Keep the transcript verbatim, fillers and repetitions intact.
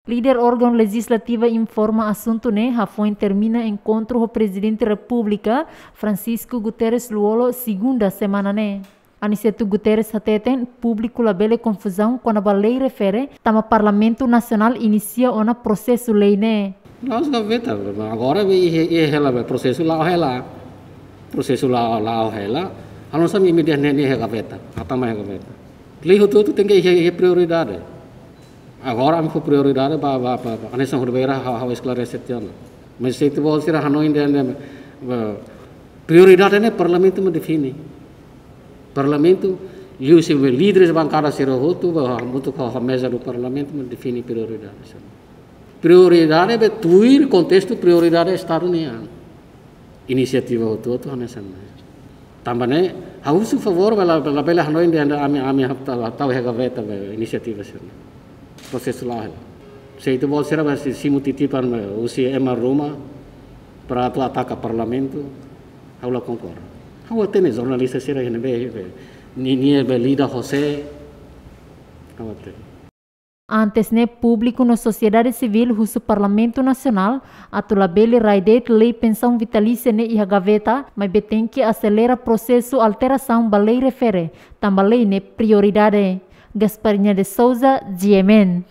Líder órgaun lejislativa informa asuntu ne'e hafoin termina enkontru ho Prezidente Repúblika, Francisco Guterres Lú-Olo, segunda semana ne'e. Aniceto Guterres hateten públiku labele konfuzaun kona-ba lei refere, tanba Parlamentu Nasionál inisia ona prosesu lei ne'e. La'ós gaveta, agora iha, iha hela be prosesu la'o hela. Prosesu la'o, la'o hela. Halo saida imi dehan ne'e, ne'e iha gaveta, hatama iha gaveta. Lei hotu-hotu tenke iha, iha prioridade. Agora ami fó prioridade ba, ba, ba, ba. Hanesan horibainrua ha'u, ha'u esklarese tiha ona. Mas se ita-boot sira hanoin dehan, dehan, ba, prioridade ne'e Parlamentu mak define. Parlamentu, liuhusi líderes bankada sira hotu, ba, hamutuk ho, ho meza do Parlamentu mak define prioridade sira. Prioridade be tuir kontestu prioridade Estadu nian. Inisiativa hotu-hotu hanesan ne'e. Tanba ne'e, ha'u husu favór, bele, bele, bele hanoin dehan ami, ami hatama, tau iha gaveta be inisiativa sira-ne'e. Prosesu la'o hela. Se ita-boot sira be si-, simu titipan be husi ema ruma para atu ataka Parlamentu, ha'u la konkorda. Ha'u hatene jornalista sira iha ne'ebé, be, nia, nia be lida ho sé, ha'u hatene. Antes ne'e, públiku no sosiedade sivíl husu Parlamentu Nasionál atu labele rai de'it lei pensaun vitalísia ne'e iha gaveta, maibé tenke aselera prosesu alterasaun ba lei refere, tanba lei ne'e prioridade. Gasparinha de Souza, G M N.